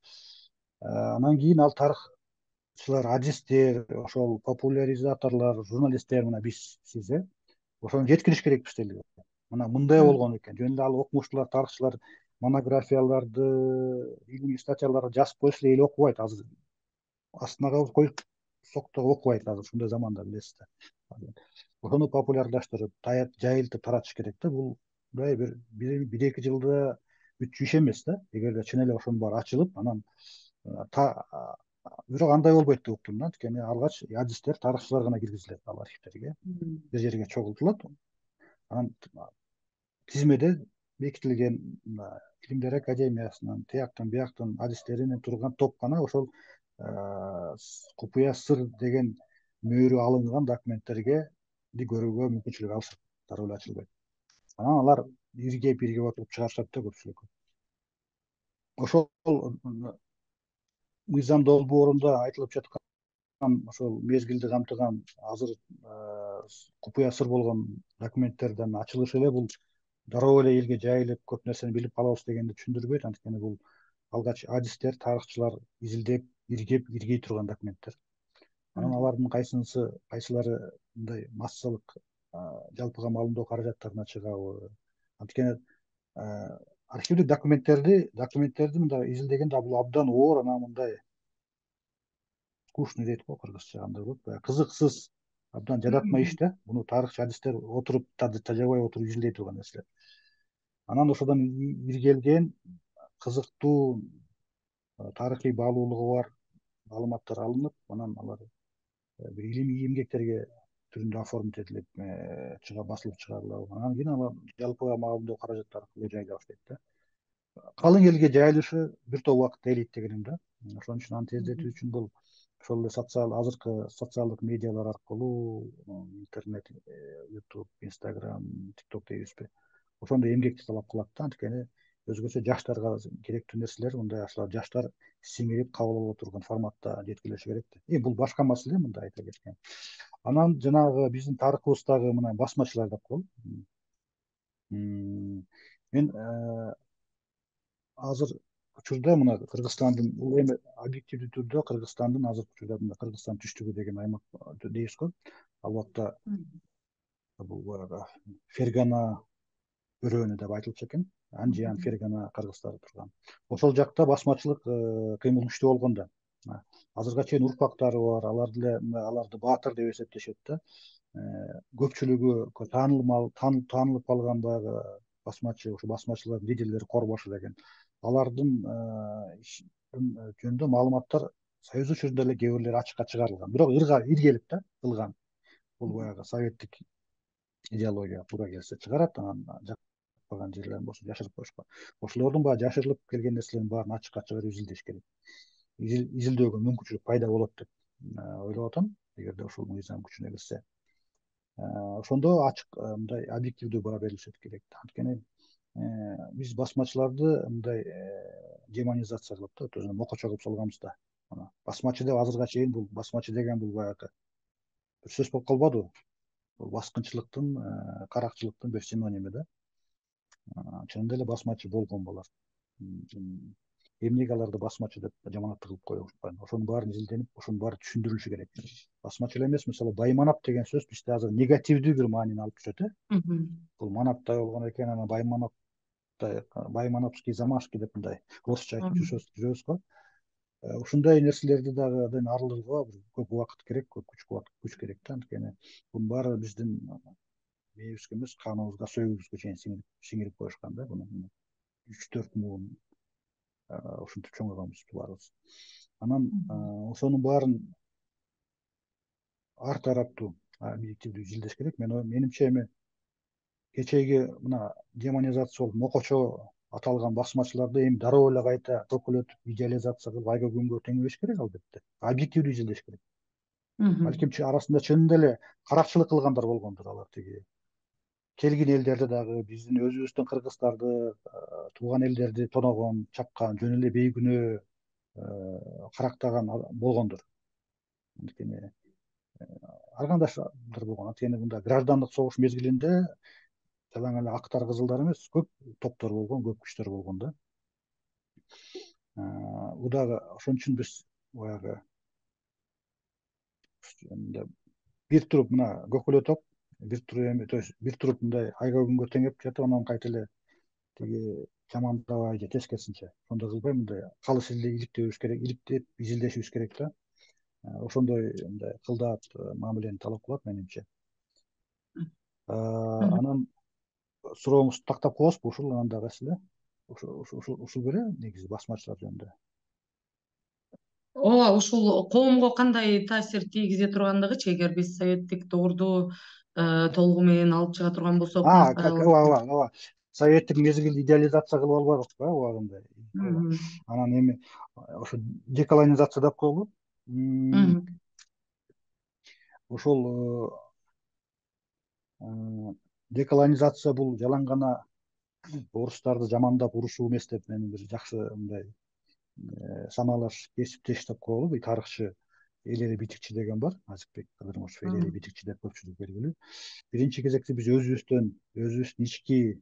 Speaker 2: Анан кийин ал тарыхчылар, адистер, ошол популяризаторлор, журналисттер, мына биз, сиз э ошону жеткириш керекпиз деле. Мына мындай болгон экен. Жөн эле ал окумуштуулар, тарыхчылар монографияларды, илимий статьяларды жазып койсо эл окубайт. Азыр астына коюп соктоп окубайт, азыр ушундай заманда, билесиз да. Ошону популярдаштырып, жайылтып таратыш керек да. Бул мындай бир бир эки жылда бүтчү иш эмес да. Эгерде чын эле ошонун баары ачылып, анан бирок андай болбойт деп уктум да. Анткени алгач адистер, тарыхчылар гана киргизилет ал архивдерге, бир жерге чогултулат. Анан тизмеде бекитилген Илимдер академиясынын, тияктан бияктан адистеринен турган топ гана ошол купуя сыр деген мөөрү алынган документтерге көрүүгө мүмкүнчүлүк алышат, дароо эле ачылбайт. Анан алар иргеп иргеп отуруп чыгарышат да көпчүлүк. Ошол мыйзам долбоорунда айтылып жаткан ошол мезгилди камтыган азыр купуя сыр болгон документтердин ачылышы эле бул дароо эле элге жайылып көп нерсени билип калабыз дегенди түшүндүрбөйт. Анткени бул алгач адистер, тарыхчылар изилдеп, иргеп, иргей турган документтер. Анан алардын кайсынысы кайсылары мындай массалык жалпыга маалымдоо каражаттарына чыгабы. Анткени архивдик документтерди документтерди мындай изилдегенде бул абдан оор, анан мындай скучный дейт го кыргызча, андай болот, баягы кызыксыз, абдан жадатма иш да. Буну тарыхчы адистер отуруп тажабай отуруп изилдей турган нерселер. Анан ошодон иргелген кызыктуу тарыхый баалуулугу бар маалыматтар алынып, анан алар бир илимий эмгектерге түрүндө оформить этилип чыга басылып чыгарылат. Анан кийин алар жалпыга маалымдоо каражаты аркылуу жайыла баштайт да. Калың элге жайылышы бир топ убакытты ээлейт дегеним да. Ошон үчүн аны тездетүү үчүн бул ошол эле социал азыркы социалдык медиалар аркылуу, интернет, YouTube, Instagram, TikTok дейбизби, ошондой эмгекти талап кылат да. Анткени өзгөчө жаштарга керектүү нерселер мындай ошол жаштар сиңирип кабыл ала турган форматта жеткирилиши керек да. Эми бул башка маселе, мындай айта кеткен. Анан жанагы биздин тарыхыбыздагы мына басмачылар деп коелу. Мен азыр учурда мына Кыргызстандын, бул эми объективдүү түрдө Кыргызстандын азыркы учурда мына Кыргызстан түштүгү деген аймак дейбиз го. Ал убакта бул баягы Фергана өрөөнү деп айтылчу экен. Анжиан, Фергана кыргыздары турган. Ошол жакта басмачылык кыймыл күчтүү болгон да. Азыркыга чейин урпактары бар, алар деле аларды баатыр деп эсептешет да. Көпчүлүгү таанылмал, таанылып калган баягы басмачы, ошо басмачылардын лидерлери Корбашы деген. Алардын жөнүндө маалыматтар Союз учурунда эле кээ бирлери ачыкка чыгарылган. Бирок иргелип да кылган. Бул баягы советтик идеология туура келсе чыгарат, анан жакпаган жерлерин болсо жашырып коюшкан. Ошолордун баягы жашырылып келген нерселерин баарын ачыкка чыгарып изилдеш керек. Изилдөөгө мүмкүнчүлүк пайда болот деп ойлоп атам, эгерде ушул мыйзам күчүнө кирсе. Ошондо ачык, мындай объективдүү баа берилишет керек. Анткени биз басмачыларды мындай демонизация кылып да, өзүнө мокочо кылып салганбыз да. Басмачы деп азыркыга чейин бул басмачы деген бул баягы бир сөз болуп калбадыбы? Бул баскынчылыктын, каракчылыктын бир синоними да. Чынында эле басмачы болгон булар. Эмнеге аларды басмачы деп жаманаттуу кылып коюшпайбы? Ошонун баары изилденип, ошонун баары түшүндүрүлүшү керек. Басмачы эле эмес, мисалы Байманап деген сөз бизде азыр негативдүү бир маанини алып жүрөт э. Бул манаптай болгон экен, анан Байманаптай, Баймановский, Замашки деп мындай орусча айтып жүрөбүз го. Ушундай нерселерди дагы абдан арылууга көп убакыт керек, көп күч күч керек да. Анткени бунун баары биздин мээбизге эмес, каныбызга, сөөгүбүзгө чейин сиңирип коюшкан да. Буну үч төрт муун ушинтип чоңойгонбуз баарыбыз. Анан ошонун баарын ар тараптуу объективдүү изилдеш керек. Менимче эми кечеги мына демонизация болуп мокочо аталган басмачыларды эми дароо эле кайта көкөлөтүп, идеализация кылып айга күнгө теңебеш керек, албетте. Объективдүү изилдеш керек. Балким арасында чынында эле каракчылык кылгандар болгондур, алар тиги келген элдерди дагы, биздин өзүбүздүн кыргыздарды, тууган элдерди тоногон, чапкан, жөн эле бейкүнөө карактаган болгондур. Анткени ар кандайдыр болгон. Анткени мында граждандык согуш мезгилинде жалаң эле актар, кызылдар эмес, көп топтор болгон, көп күчтөр болгон да. Бул дагы ошон үчүн биз баягы бир туруп мына көкөлө топ, бир туруп эми, то есть бир туруп мындай айга күнгө теңеп жатып, анан кайта эле тиги жамандабай же тескерисинче ошондой кылбай, мындай калыс иликтебүз керек, иликтеп изилдешибиз керек да. Ошондой мындай кылдаат мамилени талап кылат менимче. Анан сурооңузду тактап коесузбу? Ушул анан дагы эле ушул беле негизи басмачылар жөнүндө.
Speaker 1: Ооба, ушул коомго кандай таасир тийгизе тургандыгычы, эгер биз советтик доорду толугу менен алып чыга турган болсок,
Speaker 2: ооба, ооба, ооба. Советтик мезгилди идеализация кылып албадыкпы убагында? Анан эми ошо деколонизация деп коелу. Ошол деколонизация бул жалаң гана орустарды жамандап урушуу эмес деп мен бир жакшы мындай самалаш кесиптеш деп коелу. Тарыхчы Элери Битикчи деген бар, Азикбек Кадырмышев Элери Битикчи деп көпчүлүк белгилүү. Биринчи кезекте биз өзүбүздөн, өзүбүздүн ички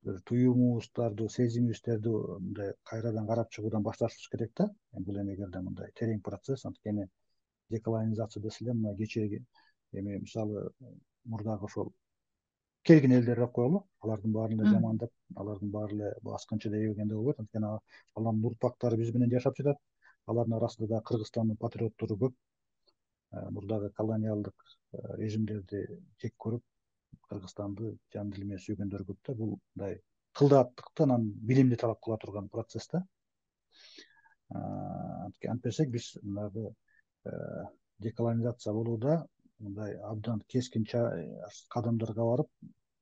Speaker 2: бир туюмубуздарды, сезимибиздерди мындай кайрадан карап чыгуудан башташыбыз керек да. Бул эми эгерде мындай терең процесс, анткени деколонизация десе эле мына кечээги эми мисалы мурдагы ошол келген элдер деп коелу, алардын баарын эле жамандап, алардын баары эле баскынчы деп ийгенде болбойт, анткени алардын урпактары биз менен жашап жатат. Алардын арасында да Кыргызстандын патриоттору көп. Мурдагы колониалдык режимдерди жек көрүп, Кыргызстанды жан дили менен сүйгөндөр көп да. Бул мындай кылдааттыкты, анан билимди талап кыла турган процесс да. Антпесек биз мынагы деколонизация болууда мындай абдан кескин кадамдарга барып,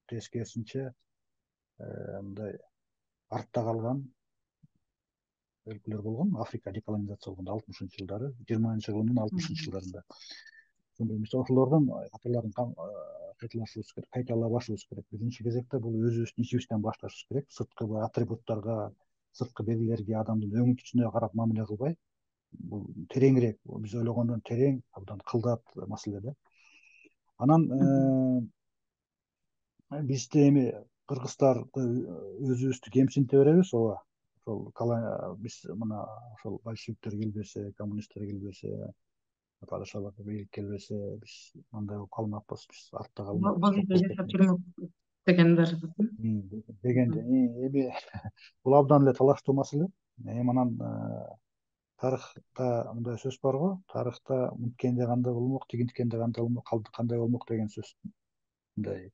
Speaker 2: тескерисинче мындай артта калган өлкөлөр болгон. Африка деколонизация болгондо алтымышынчы жылдары, жыйырманчы кылымдын алтымышынчы жылдарында. Биз ошолордон каталарын кайталашыбыз керек, кайталабашыбыз керек. Биринчи кезекте бул өзүбүздүн ичибизден башташыбыз керек. Сырткы атрибуттарга, сырткы белгилерге, адамдын өңү түстүнө карап мамиле кылбай, бул тереңирээк, биз ойлогондон терең, абдан кылдаат маселе да. Анан бизде эми кыргыздарды өзүбүздү кемсинте беребиз, ооба. Ошол биз мына ошол большевиктер келбесе, коммунисттер келбесе, падышалык бийлик келбесе, биз мындай болуп калмакпыз, биз артта калмакпыз.
Speaker 1: Бул жерде жашап жүрмөк дегендер
Speaker 2: дегенде эми бул абдан эле талаштуу маселе. Эми анан тарыхта мындай сөз бар го, тарыхта мынткенде кандай болмок, тигинткенде кандай болмок, кандай болмок деген сөз. Мындай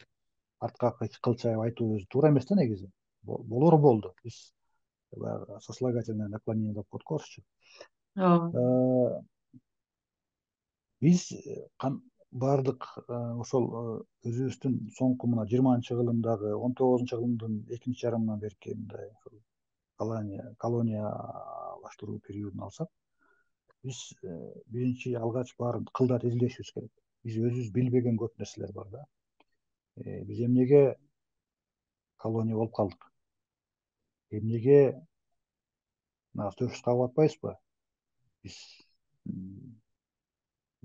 Speaker 2: артка кылчайып айтуу өзү туура эмес да негизи. Болор болду. Биз баягы сослагательное наклонение деп коет го орусча. Ооба. Биз баардык ошол өзүбүздүн соңку мына жыйырманчы кылымдагы, он тогузунчу кылымдын экинчи жарымынан берки мындай колония колониялаштыруу периодун алсак, биз биринчи алгач баарын кылдат изилешибиз керек. Биз өзүбүз билбеген көп нерселер бар да. Биз эмнеге колония болуп калдык? Эмнеге төрүш кагып атпайбызбы? Биз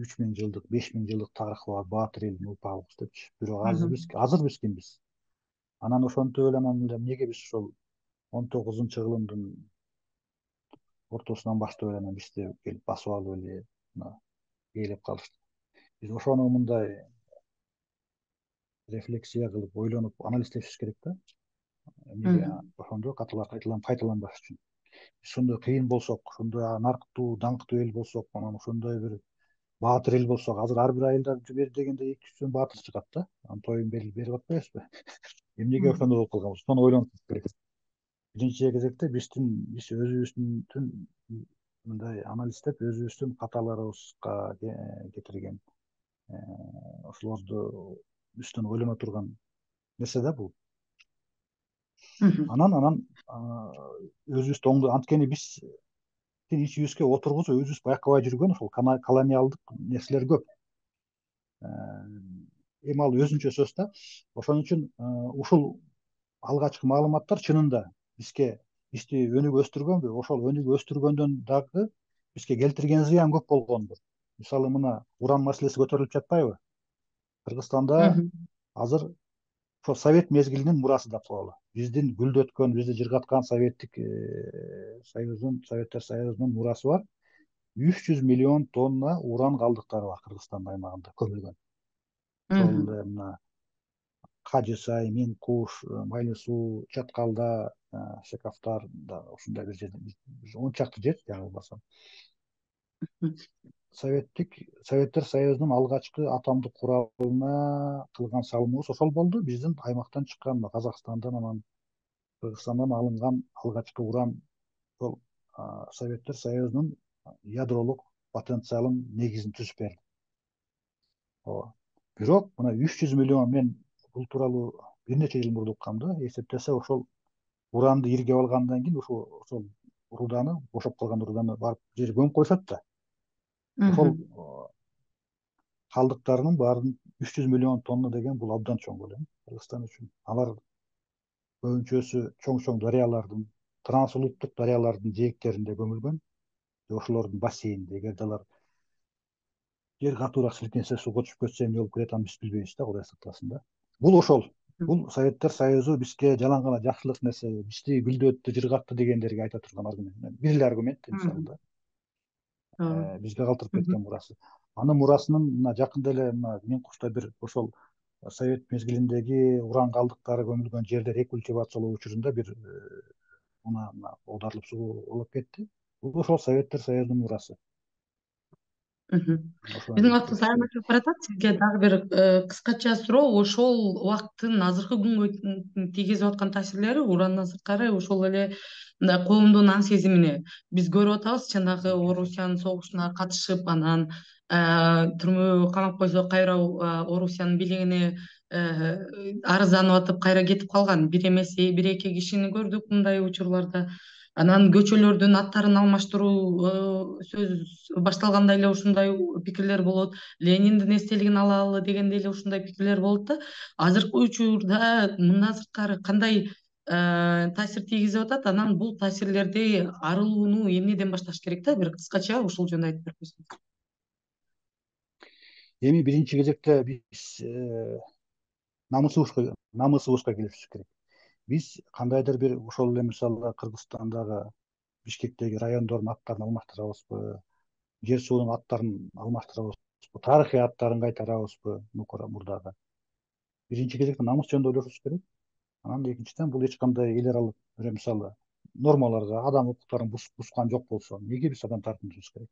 Speaker 2: үч миң жылдык, беш миң жылдык тарыхы бар баатыр элдин урпагыбыз депчи. Бирок азыр биз азыр биз кимбиз? Анан ошентип эле анан эле эмнеге биз ошол он тогузунчу кылымдын ортосунан баштап эле анан бизди келип басып алып эле мына ээлеп калышты. Биз ошону мындай рефлексия кылып, ойлонуп, анализдешибиз керек да. Эмнеге ошондо каталар кайталанбаш үчүн. Биз ошондой кыйын болсок, ошондой нарктуу, даңктуу эл болсок, анан ошондой бир баатыр эл болсок, азыр ар бир айылда бир дегенде эки жүздөн баатыр чыгат да. Анын тоюн берип атпайбызбы? Эмнеге ошондой болуп калганбыз? Ошону ойлонуш керек. Биринчи кезекте биздин биз өзүбүздүн мындай анализдеп, өзүбүздүн каталарыбызга кетирген ошолорду үстүн ойлоно турган нерсе да бул. Анан анан өзүбүздү оңдо, анткени биз ичибизге отургузуп өзүбүз байкабай жүргөн ошол колониалдык нерселер көп. Эми ал өзүнчө сөз да. Ошон үчүн ушул алгачкы маалыматтар чынында бизге бизди өнүгүп өстүргөнбү? Ошол өнүгүп өстүргөндөн дагы бизге келтирген зыян көп болгонбу? Мисалы мына уран маселеси көтөрүлүп жатпайбы? Кыргызстанда азыр ошол совет мезгилинин мурасы деп коелу. Биздин гүлдөткөн, бизди жыргаткан советтик союздун, Советтер Союзунун мурасы бар. үч жүз миллион тонна уран калдыктары бар Кыргызстан аймагында көмүлгөн. Ошол мына Кажы Сай, Мен Куш, Майлы Суу, Чаткалда, Шекафтар да ушундай бир жерде он чакты жер жаңылбасам. Советтик Советтер Союзунун алгачкы атомдук куралына кылган салымыбыз ошол болду. Биздин аймактан чыккан, Казакстандан, анан Кыргызстандан алынган алгачкы уран ошол Советтер Союзунун ядролук потенциалын негизин түзүп берди. Ооба. Бирок мына үч жүз миллион, мен бул тууралуу бир нече жыл мурда уккам да, эсептесе ошол уранды иргеп алгандан кийин ошол ошол руданы, бошоп калган руданы барып жер көмүп коюшат да. Ошол калдыктарынын баарын үч жүз миллион тонна деген бул абдан чоң көлөм Кыргызстан үчүн. Алар көбүнчөсү чоң-чоң дарыялардын, трансулуттук дарыялардын жээктеринде көмүлгөн. Ошолордун бассейнинде, эгерде алар жер катуураак силкинсе, суга түшүп кетсе эмне болуп кетет, аны биз билбейбиз да, Кудай сактасын да. Бул ошол Бул Советтер Союзу бизге жалаң гана жакшылык нерсе, бизди гүлдөттү, жыргатты дегендерге айта турган аргумент. Бир эле аргумент мисалы да. Бизге калтырып кеткен мурасы. Анын мурасынын мына жакында эле мына Мен Кушта бир ошол Совет мезгилиндеги уран калдыктары көмүлгөн жерлер рекультивациялоо учурунда бир мына оодарылып суу болуп кетти. Бул ошол Советтер Союзунун мурасы.
Speaker 1: Биздин убактыбыз аянтчылык баратат. Сизге дагы бир кыскача суроо. Ошол убакыттын азыркы күнгө тийгизип аткан таасирлери урандан сырткары ошол эле мындай коомдун аң сезимине биз көрүп атабыз. Жанагы Орусиянын согушуна катышып, анан түрмөгө камап койсо, кайра Орусиянын бийлигине арызданып атып, кайра кетип калган бир эмес бир эки кишини көрдүк мындай учурларда. Анан көчөлөрдүн аттарын алмаштыруу сөз башталганда эле ушундай пикирлер болот. Лениндин эстелигин алалы дегенде эле ушундай пикирлер болот да. Азыркы учурда мындан сырткары кандай таасир тийгизип атат? Анан бул таасирлерди арылууну эмнеден башташ керек да? Бир кыскача ушул жөнүндө айтып берип койсоңуз.
Speaker 2: Эми биринчи кезекте биз намысыбызга намысыбызга келишибиз керек. Биз кандайдыр бир ошол эле мисалы Кыргызстандагы Бишкектеги райондордун аттарын алмаштырабызбы, жер суунун аттарын алмаштырабызбы, тарыхый аттарын кайтарабызбы мурдагы. Биринчи кезекте намыс жөнүндө ойлошубуз керек. Анан экинчиден бул эч кандай эл аралык мисалы нормаларга, адам укуктарын бускан жок болсо, эмнеге биз адам тартынышыбыз керек?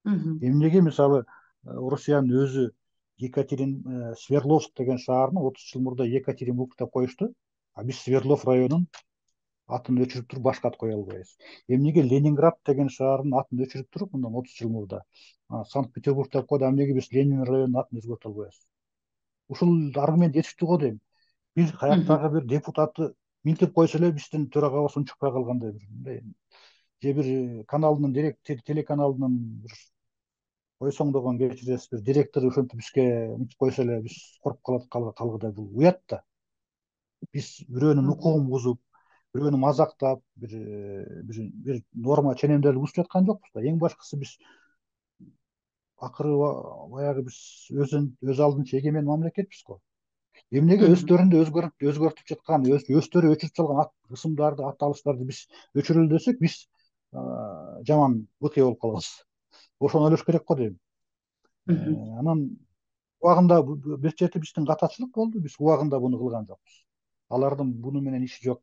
Speaker 2: Эмнеге мисалы Орусиянын өзү Екатерин Свердловск деген шаарны отуз жыл мурда Екатеринбург деп коюшту, а биз Свердлов районунун атын өчүрүп туруп башка ат кое албайбыз. Эмнеге Ленинград деген шаардын атын өчүрүп туруп мындан отуз жыл мурда Санкт-Петербург деп койду, а эмнеге биз Ленин районунун атын өзгөртө албайбыз? Ушул аргумент жетиштүү го дейм. Бир каяктагы бир депутатты минтип койсо эле биздин төрагабыз унчукпай калгандай бир мындай же бир каналдын директор телеканалдын бир койсоңдогон кечиресиз бир директору ошентип бизге минтип койсо эле биз коруп калат калгыдай. Бул уят да. Биз бирөөнүн укугун бузуп, бирөөнү мазактап, бир бир норма ченемдерди бузуп жаткан жокпуз да. Эң башкысы биз акыры баягы биз өз алдынча эгемен мамлекетпиз го. Эмнеге өздөрүндө өзгөртүп жаткан, өздөрү өчүрүп салган ысымдарды, ат алыштарды биз өчүрөлү десек, биз жаман быкый болуп калабыз. Ошону ойлош керек го дейм. Анан убагында бир чети биздин катачылык болду. Биз убагында буну кылган жокпуз. Алардын буну менен иши жок.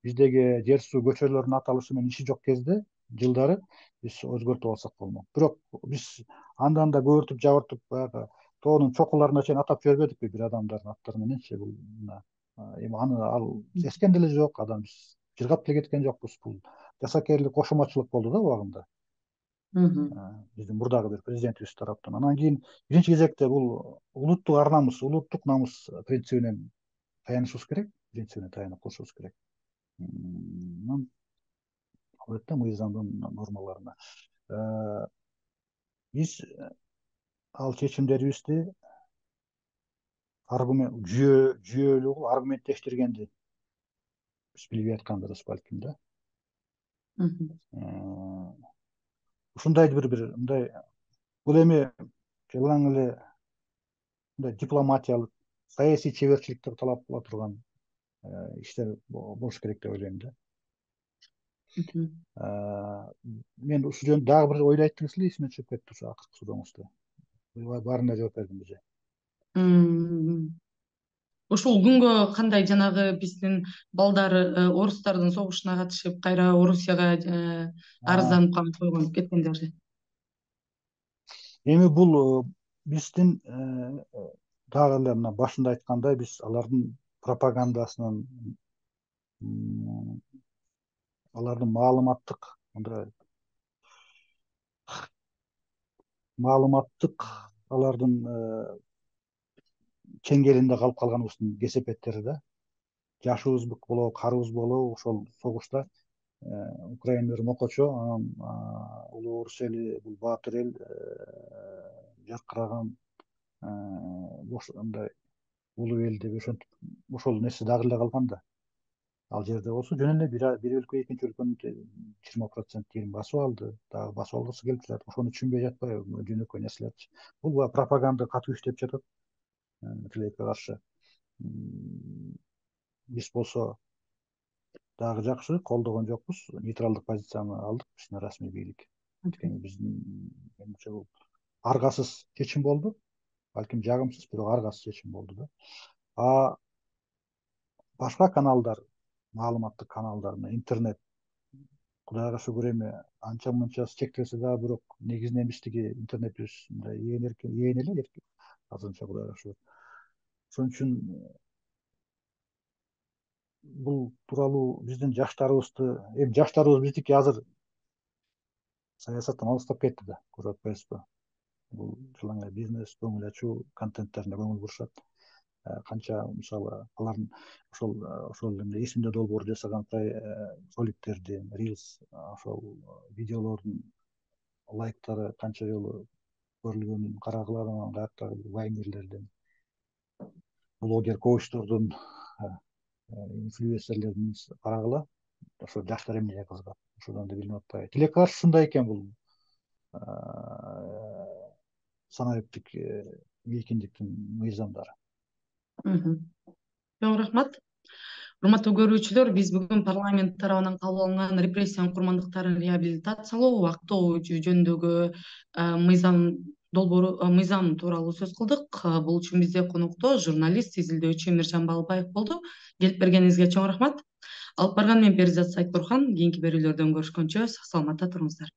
Speaker 2: Биздеги жер суу көчөлөрүнүн аталышы менен иши жок кезде, жылдары биз өзгөртүп алсак болмок. Бирок биз андан да көбүртүп жабыртып баягы тоонун чокуларына чейин атап жибербедикпи бир адамдардын аттары мененчи? Бул эми аны ал эскен деле жок, адам биз жыргап деле кеткен жокпуз. Бул жасакерлик, кошоматчылык болду да убагында. Биздин мурдагы бир президентибиз тараптан. Анан кийин биринчи кезекте бул улуттук ар намыс, улуттук намыс принцибинен таянышыбыз керек, принцибине таянып кылышыбыз керек. Анан албетте мыйзамдын нормаларына биз ал чечимдерибизди аргумент жүйө жүйөлүү кылып аргументтештиргенди биз билбей атканыбыз балким да. Ушундай бир бир мындай бул эми жалаң эле мындай дипломатиялык, саясий чеберчиликти талап кыла турган иштер болуш керек деп ойлойм да. Мен ушул жөнүндө дагы бир ойлойт эле эсиме түшүп кетти ошо акыркы сурооңузда. Баарына жооп бердим уже.
Speaker 1: Ушул күнгө кандай жанагы биздин балдар орустардын согушуна катышып, кайра Орусияга арызданып койгон кеткендерди?
Speaker 2: Эми бул биздин дагы эле мына башында айткандай, биз алардын пропагандасынын, алардын маалыматтык мындай маалыматтык алардын чеңгелинде калып калганыбыздын кесепеттери да. Жашыбыз болобу, карыбыз болобу ошол согушта Украина бир мокочо, анан улуу орус эли бул баатыр эл жаркыраган мындай улуу эл деп ошентип ошол нерсе дагы эле калган да. Ал жерде болсо жөн эле бир өлкө экинчи өлкөнү жыйырма процент дегенин басып алды, дагы басып алгысы келип жатат. Ошону түшүнбөй жатпайбы? Жөнөкөй нерселерчи. Бул пропаганда катуу иштеп жатат тилекке каршы. биз болсо дагы жакшы колдогон жокпуз, нейтралдык позицияны алдык биздин расмий бийлик. Анткени биздин менимче бул аргасыз чечим болду. Балким жагымсыз, бирок аргасыз чечим болду да. А башка каналдар, маалыматтык каналдар, интернет Кудайга шүгүр эми анча мынчасы чектелсе дагы, бирок негизинен биздики интернетибиз мындай ээн эркин, ээн эле эркин азырынча, Кудайга шүгүр. Ошон үчүн бул тууралуу биздин жаштарыбызды, эми жаштарыбыз биздики азыр саясаттан алыстап кетти да, көрүп атпайсызбы? Бул жылаңай бизнес, көңүл ачуу контенттерине көңүл бурушат. Канча мисалы алардын ошол ошол эмне эсимде долбоор жасаган роликтердин, рилс, ошол видеолордун лайктары канча жолу көрүлгөнүн карагыла, анан каяктагы вайнерлердин, блогер коучтордун, инфлюенсерлердин карагыла. Ошо жаштар эмнеге кызыгат, ошодон да билинип атпайбы. Тилекке каршы ушундай экен бул санариптик мейкиндиктин мыйзамдары.
Speaker 1: Чоң рахмат. Урматтуу көрүүчүлөр, биз бүгүн парламент тарабынан кабыл алынган репрессиянын курмандыктарын реабилитациялоо, актоо жөнүндөгү мыйзам долбоору мыйзам тууралуу сөз кылдык. Бул үчүн бизде конокто журналист, изилдөөчү Эмиржан Балбаев болду. Келип бергениңизге чоң рахмат. Алып барган мен Перизат Сайтбурхан. Кийинки берүүлөрдөн көрүшкөнчө сак саламатта туруңуздар.